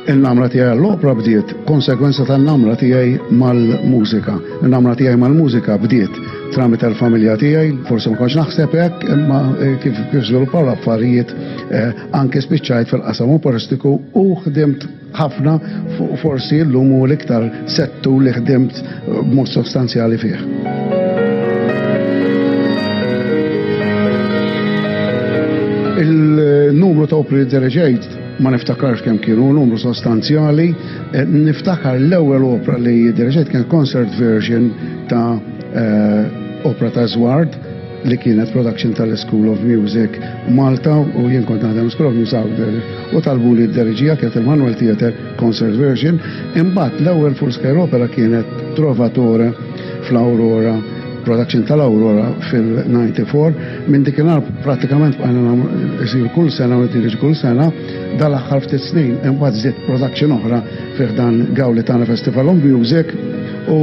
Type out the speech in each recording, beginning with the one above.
Il-namra tiegħi għall-opra bdiet konsegwenza tan-namra tiegħi mal-mużika. Il-namra tiegħi mal-mużika bdiet tramite l-familja tiegħi, forsi ma kontx naħseb hekk, imma eh, kif kif żviluppaw l-affarijiet eh, anke spiċċajt fil-qasam operistiku u ħdimt ħafna forsi llum hu l-iktar settur li ħdimt eh, b'mod sostanzjali fih. Il-numru ta' opri li diriġejt ma niftakarx kemm kienu, numru sostanzjali. Eh, niftakar l-ewwel opra li diriġejt kien concert version ta' eh, opra ta' Zward li kienet production tal-School of Music Malta u jien kont naħdem School of Music u talbu li d-deriġija kienet il-Manuel Theatre Concert Version. Imbagħad l-ewwel full scale opera kienet Trovatore fl-Aurora production tal-Aurora fil-94 minn dikinhar pratikament bqajna isir kull sena u nitiriġ kull sena dal-aħħar ftit snin imbagħad żied production oħra fih dan Gawlitana Festival of Music u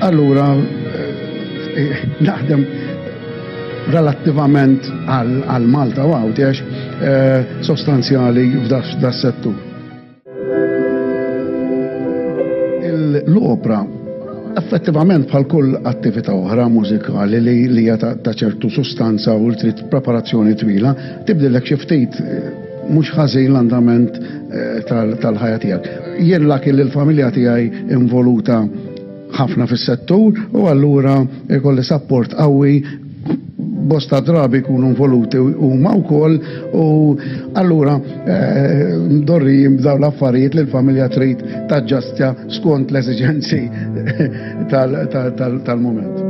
allura eh, naħdem relattivament għal Malta u Għawdex eh, sostanzjali f'da settur. L-opra effettivament bħal kull attività oħra mużikali li hija ta' ċertu sustanza u trid preparazzjoni twila, tibdillek xi ftit eh, mhux ħażin l-andament eh, tal-ħajja tiegħek. Jien laki li l-familja tiegħi involuta ħafna fis-settur u allura jkolli sapport qawwi bosta drabi jkunu involuti huma wkoll u allura eh, dorri b'dawn l-affarijiet li l-familja trid taġġastja skont l-eżiġenzi tal-mument.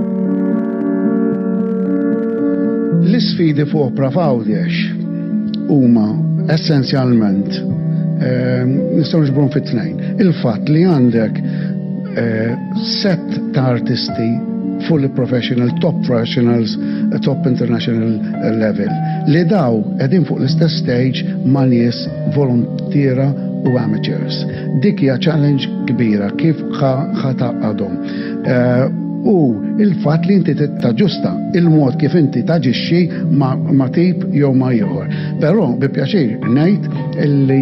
L-isfidi fuq opra f'Għawdex huma essenzjalment eh, nistgħu niġbruhom fit-tnejn. Il-fatt li għandek eh, set ta' artisti fully professional, top professionals, top international level. Li daw qegħdin fuq l-istess stage ma' nies volontiera u amateurs. Dik hija challenge kbira kif ħa tgħaqqadhom. Eh, u il-fatt li inti taġġusta il-mod kif inti taġixxi ma' tip jew ma' ieħor. Però bi pjaċir ngħid illi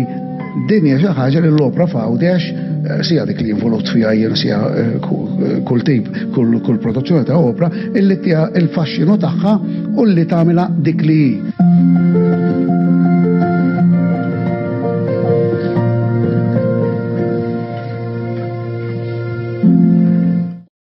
Din hija xi ħaġa li l-opra f'Għawdex eh, sija dik li involut fiha jien sija eh, eh, kull tip, kull produzzjoni ta' opra, illi tiha il-faxxinu tagħha u li tagħmilha dik li hi.